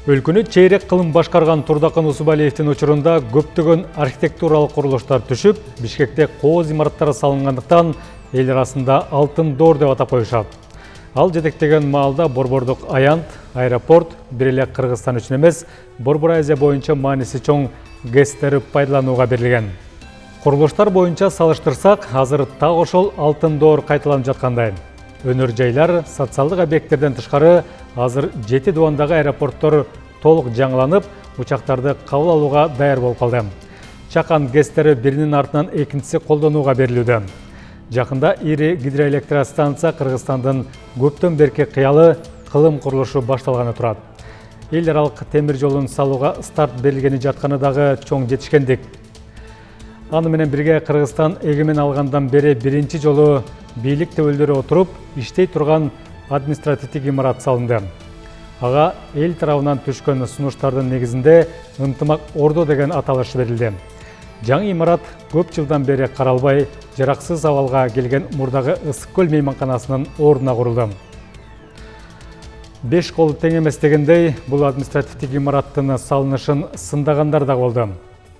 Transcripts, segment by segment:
Өлкөнү чейрек кылым башкарган Турдакын Усубалиевдин учурунда көптөгөн архитектуралык курулуштар түшүп, Бишкекте кооз имараттары салынгандыктан эл арасында алтын доор деп атап коюшат. Ал жетектеген маалда Борбордук аянт, аэропорт бир эле Кыргызстан үчүн эмес, Борбор Азия боюнча мааниси чоң ГЭСтери пайдаланууга берилген. Курулуштар боюнча салыштырсак, азыр так ошол алтын доор кайталанып жаткандай. Өнөр жайлар, социалдык объекттерден тышкары азыр 7 дубандагы аэропорттор толук жаңыланып, учактарды кабыл алууга даяр болуп калды. Чакан ГЭСтери биринин артынан экинчиси колдонууга берилүүдө. Жакында ири гидроэлектростанция Кыргызстандын көптөн берки кыялы кылым курулушу башталганы турат. Эл аралык темир жолун салууга старт берилгени жатканы дагы чоң жетишкендик. Аны менен бирге Кыргызстан эгемен алгандан бери биринчи жолу бийлик төбөлдөрү отуруп, иштей турган административдик имарат салынды. Ага эл тарабынан түшкөн сунуштардын негизинде ынтымак ордо деген аталыш берилди. Жаңы имарат көп жылдан бери каралбай, жараксыз абалга келген мурдагы Ысык көл мейманканасынын ордуна курулду. 5 колу тең эмес дегендей, бул административдик имараттын салынышын сындагандар да болду.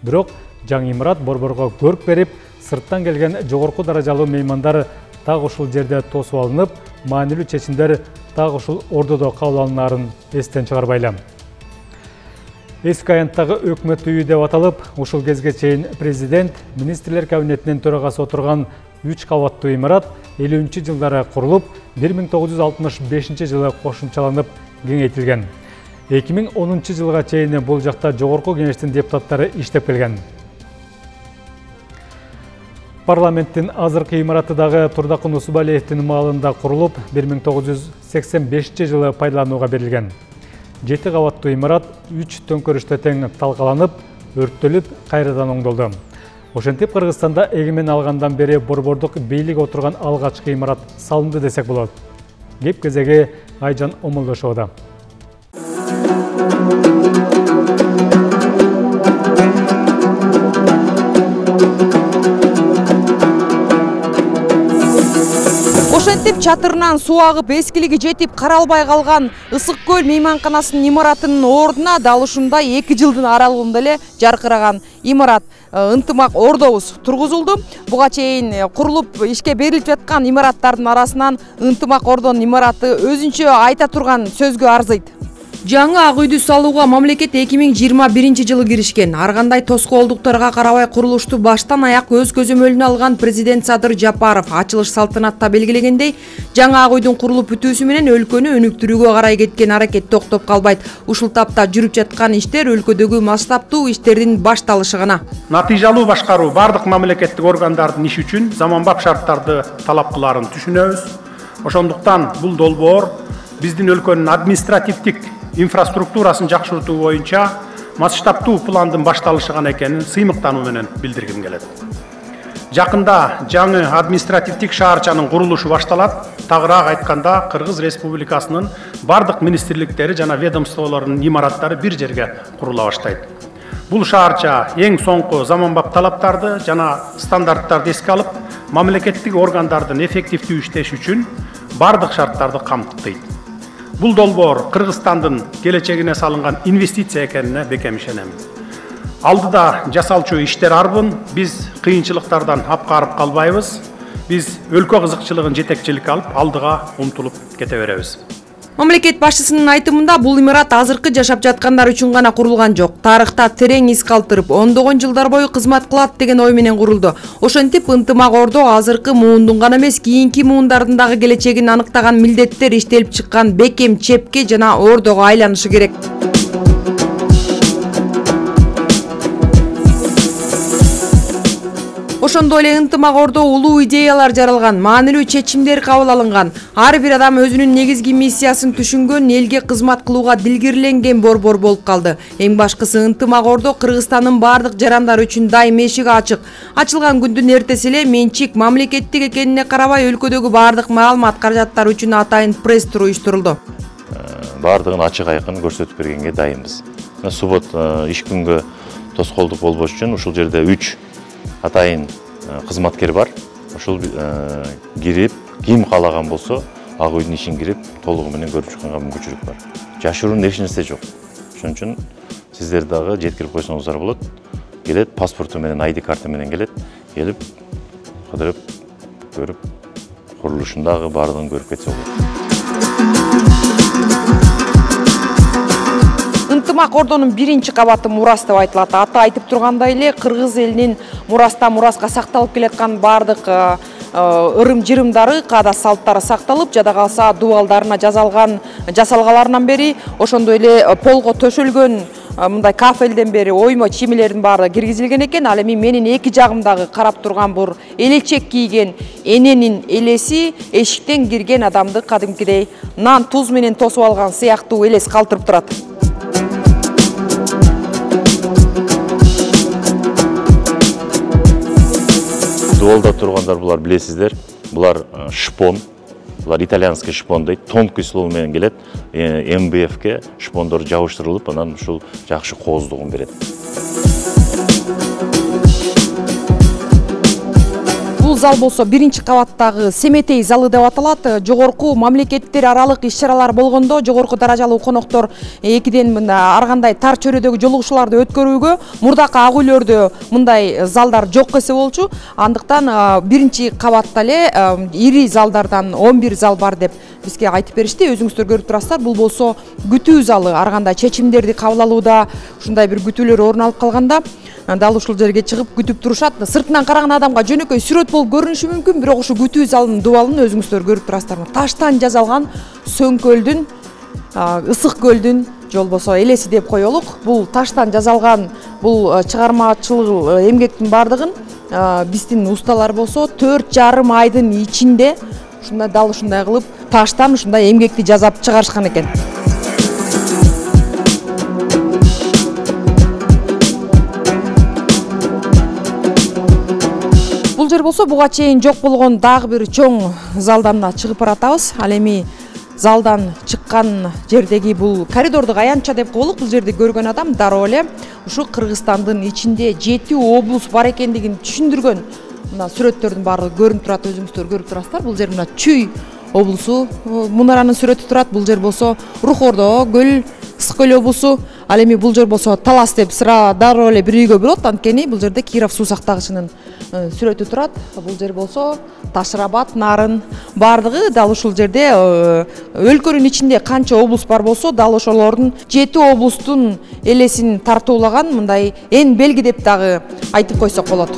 Бирок жаңы имарат борборго көрк берип, сырттан келген жогорку даражалуу меймандар так ушул жерде тосуп алынып, маанилүү чечимдер так ушул ордодо кабыл алынаарын эстен чыгарбайлы. Эски аянттагы өкмөт үйү деп аталып, ушул кезге чейин президент, министрлер кабинетинин төрагасы отурган 3 кабаттуу имарат 50-жылдары курулуп, 1965 жылы кошумчаланып кеңейтилген. 2010 жылга чейин бул жакта жогорку кеңештин депутаттары иштеп келген. Парламенттин азыркы имараты дагы Турдакын Усубалиевдин маалында курулуп, 1985 жылы пайдаланууга берилген. 7 кабаттуу имарат 3 төңкөрүштө тең талкаланып, өрттөлүп, кайрадан оңдолду. Ошентип Кыргызстанда эгемен алгандан бери борбордук бийлик отурган алгачкы имарат салынды десек болот. Кеп кезеги Айжан Омолдошовда. Ошентип чатырынан суу агып, эскилиги жетип каралбай калган Ысык көл мейманканасынын имаратынын ордуна дал ушундай 2 жылдын аралыгында эле жаркыраган имарат ынтымак ордобуз тургузулду. Буга чейин курулуп ишке берилип жаткан имараттардын арасынан ынтымак ордонун имараты өзүнчө айта турган сөзгө арзыйт. Жаңы ак үйдү салууга мамлекет 2021 жылы киришкен. Ар кандай тоскоолдуктарга карабай курулушту баштан аяк өз көзөмөлүнө алган президент Садыр Жапаров ачылыш салтанатта белгилегендей, жаңы ак үйдүн курулуп бүтүүсү менен өлкөнү өнүктүрүүгө карай кеткен аракет токтоп калбайт. Ушул тапта жүрүп жаткан иштер өлкөдөгү масштабтуу иштердин башталышы гана. Натыйжалуу башкаруу бардык мамлекеттик органдардын иши үчүн заманбап шарттарды талап кыларын түшүнөбүз. Ошондуктан бул долбоор биздин өлкөнүн административдик инфраструктурасын жакшыртуу боюнча масштабтуу пландын башталышы гана экенин сыймыктануу менен билдиргим келет. Жакында жаңы административдик шаарчанын курулушу башталат. Тагыраак айтканда, Кыргыз Республикасынын бардык министрликтери жана ведомстволорунун имараттары бир жерге курула баштайт. Бул шаарча эң соңку заманбап талаптарды жана стандарттарды эске алып, мамлекеттик органдардын эффективдүү иштеши үчүн бардык шарттарды камтыйт. Бул долбоор Кыргызстандын келечегине салынган инвестиция экенине бекем ишенем. Алдыда жасалчу иштер арбын, биз кыйынчылыктардан апкарып калбайбыз. Биз өлкө кызыкчылыгын жетекчиликке алып, алдыга умтулуп кете беребиз. Мамлекет башчысынын айтымында бул имарат азыркы жашап жаткандар үчүн гана курулган жок. Тарыхта терең из калтырып, ондогон жылдар бою кызмат кылат деген ой менен курулду. Ошентип ынтымак ордо азыркы муундун гана эмес, кийинки муундардын дагы келечегин аныктаган милдеттер иштелип чыккан бекем чепке жана ордого айланышы керек. Ошондой эле ынтымак ордо улуу идеялар жаралган, маанилүү чечимдер кабыл алынган. Ар бир адам өзүнүн негизги миссиясын түшүнгөн, элге кызмат кылууга дилгирленген борбор болуп калды. Эң башкысы ынтымак ордо Кыргызстандын бардык жарандары үчүн дайым эшиги ачык. Ачылган күндүн эртеси эле менчик мамлекеттик экенине карабай өлкөдөгү бардык маалымат каражаттар үчүн атайын пресс-тур уюштурулду. Бардыгын ачык айкын көрсөтүп бергенге дайынбыз. Суббот иш күнгө тоскоолдук болбош үчүн ушул жерде 3 атайын кызматкер бар. Ошол кирип, ким каалаган болсо, ак үйдүн ишин кирип, толугу менен көрүп чыкканга мүмкүнчүлүк бар. Жашыруун эч нерсе жок. Ошон үчүн сиздер дагы жеткирип койсоңуздар болот. Келет, паспорту менен, ID карта менен келет, келип, кыдырып, көрүп, курулушун дагы баардыгын көрүп кетсе болот. Ынтымак ордонун 1-кабаты мурас деп айтылат. Аты айтып тургандай эле кыргыз элинин мурастан мураска сакталып келаткан баардык ырым-жырымдары, каада салттары сакталып, жада калса дубалдарына жасалгаларынан бери, ошондой эле полго төшөлгөн мындай кафелден бери оймо чимелердин баары киргизилген экен. Ал эми менин эки жагымдагы карап турган бур элечек кийген эненин элеси эшиктен кирген адамды кадимкидей нан туз менен тосуп алган сыяктуу элес калтырып турат. Дубалда тургандар булар билесиздер. Булар шпон. Булар итальянский шпон дейт. Тонкий слово менен келет. МБФке шпондор жабыштырылып, анан ушул жакшы кооздугун берет. Бул зал болсо 1-кабаттагы Семетей залы деп аталат. Жогорку мамлекеттер аралык иш-чаралар болгондо жогорку даражалуу коноктор экиден ар кандай тар чөйрөдөгү жолугушууларды өткөрүүгө мурдакы ак үйлөрдө мындай залдар жок эсе болчу. Андыктан 1-кабатта эле ири залдардан 11 зал бар деп бизге айтып беришти. Өзүңүздөр көрүп турасыздар. Бул болсо күтүү залы. Ар кандай чечимдерди кабыл алууда ушундай бир күтүүлөр орун алып калганда дал ушул жерге чыгып күтүп турушат. Сыртынан караган адамга жөнөкөй сүрөт болуп көрүнүшү мүмкүн, бирок ушу күтүү залынын дубалын өзүңүздөр көрүп турасыздар. Таштан жасалган Сөңкөлдүн, Ысык көлдүн же болбосо элеси деп коелук. Бул таштан жасалган бул чыгармачылык эмгектин баардыгын биздин усталар болсо 4,5 айдын ичинде ушундай дал ушундай кылып таштан ушундай эмгекти жасап чыгарышкан экен. Бул жер болсо буга чейин жок болгон дагы бир чоң залдан чыгып баратабыз. Ал эми залдан чыккан жердеги бул коридордук аянтча деп коелук. Бул жерди көргөн адам дароо эле ушу Кыргызстандын ичинде 7 облус бар экендигин түшүндүргөн мына сүрөттөрдүн баары көрүнүп турат. Өзүңүздөр көрүп турасыздар. Бул жер мына Чүй облусу мунаранын сүрөтү турат. Бул жер болсо Рухордо көл, Ысык көл облусу. Ал эми бул жер болсо Талас деп сыра дароо эле бир үйгө болот. Анткени бул жерде Киров суу сактагычынын сүрөтү турат. Бул жер болсо Ташырабад, Нарын баардыгы дал ушул жерде өлкөнүн ичинде канча облус бар болсо, дал ошолордун 7 облустун элесин тартуулаган мындай эн белги деп дагы айтып койсок болот.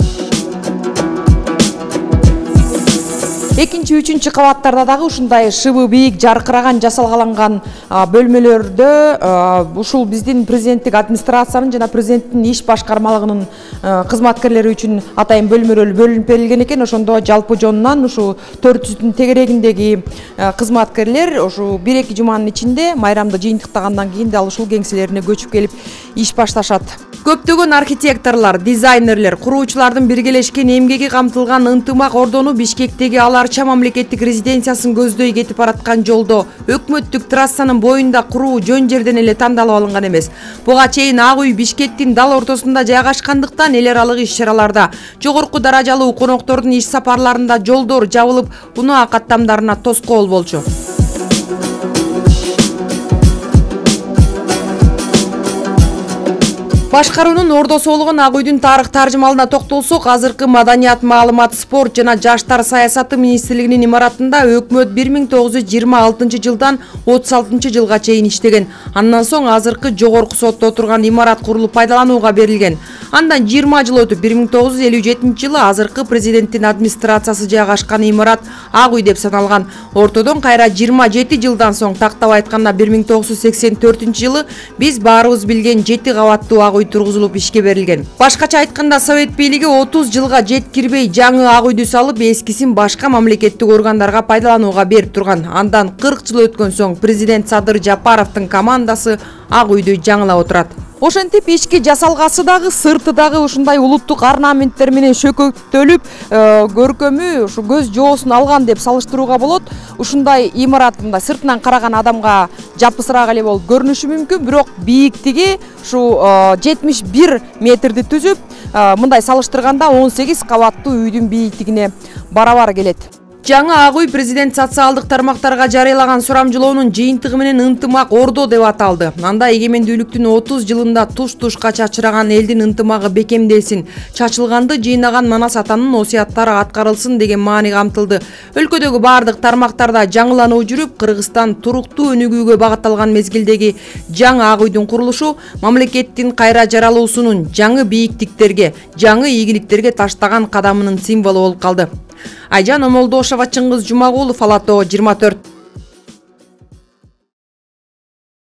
2-3 кабаттарда дагы ушундай шыбы бийик жаркыраган жасалгаланган бөлмөлөрдө ушул биздин президенттик администрациянын жана президенттин иш башкармалыгынын кызматкерлери үчүн атайын бөлмөлөр бөлүнүп берилген экен. Ошондо жалпы жонунан ушу 400-дүн тегерегиндеги кызматкерлер ушу 1-2 жуманын ичинде майрамды жыйынтыктагандан кийин дал ушул кеңселерине көчүп келип иш башташат. Көптөгөн архитекторлор, дизайнерлер, куруучулардын биргелешкен эмгеги камтылган Ынтымак ордону Бишкектеги Аларча мамлекеттик резиденциясын көздөй кетип бараткан жолдо өкмөттүк трассанын боюнда куруу жөн жерден эле тандалып алынган эмес. Буга чейин ак үй Бишкектин дал ортосунда жайгашкандыктан эл аралык иш-чараларда, жогорку даражалуу коноктордун иш сапарларында жолдор жабылып, унаа каттамдарына тоскоол болчу. Башкаруунун ордосу болгон Ак үйдүн тарых таржымалына токтолсок, азыркы Маданият, маалымат, спорт жана жаштар саясаты министрлигинин имаратында өкмөт 1926 жылдан 36 жылга чейин иштеген. Андан соң азыркы жогорку сотто отурган имарат курулуп пайдаланууга берилген. Андан 20 жыл өтүп 1957 жылы азыркы президенттин администрациясы жайгашкан имарат Ак үй деп саналган. Ортодон кайра 27 жылдан соң, тактап айтканда 1984 жылы биз баарыбыз билген 7 кабаттуу Ак үй тургузулуп ишке берилген. Башкача айтканда Совет бийлиги 30 жылга жеткирбей жаңы Ак үйдү салып, эскисин башка мамлекеттик органдарга пайдаланууга берип турган. Андан 40 жыл өткөн соң президент Садыр Жапаровдун командасы Ак үйдү жаңылап отурат. Ошентип ички жасалгасы дагы, сырты дагы ушундай улуттук орнаменттер менен шөкөктөлүп, көркөмү ушу көз жоосун алган деп салыштырууга болот. Ушундай имарат мындай сыртынан караган адамга жапысыраак эле болуп көрүнүшү мүмкүн, бирок бийиктиги ушу 71 метрди түзүп, мындай салыштырганда 18 кабаттуу үйдүн бийиктигине барабар келет. Жаңы Ак үй президент социалдык тармактарга жарыялаган сурамжылоонун жыйынтыгы менен ынтымак Ордо деп аталды. Анда эгемендүүлүктүн 30 жылында туш-тушка чачыраган элдин ынтымагы бекемделсин, чачылганды жыйнаган Манас атанын осуяттары аткарылсын деген маани камтылды. Өлкөдөгү бардык тармактарда жаңылануу жүрүп, Кыргызстан туруктуу өнүгүүгө багытталган мезгилдеги жаңы Ак үйдүн курулушу мамлекеттин кайра жаралуусунун жаңы бийиктиктерге, жаңы ийгиликтерге таштаган кадамынын символу болуп калды. Айжан Омолдошова, Чыңгыз Жумагулов, Ала Тоо 24.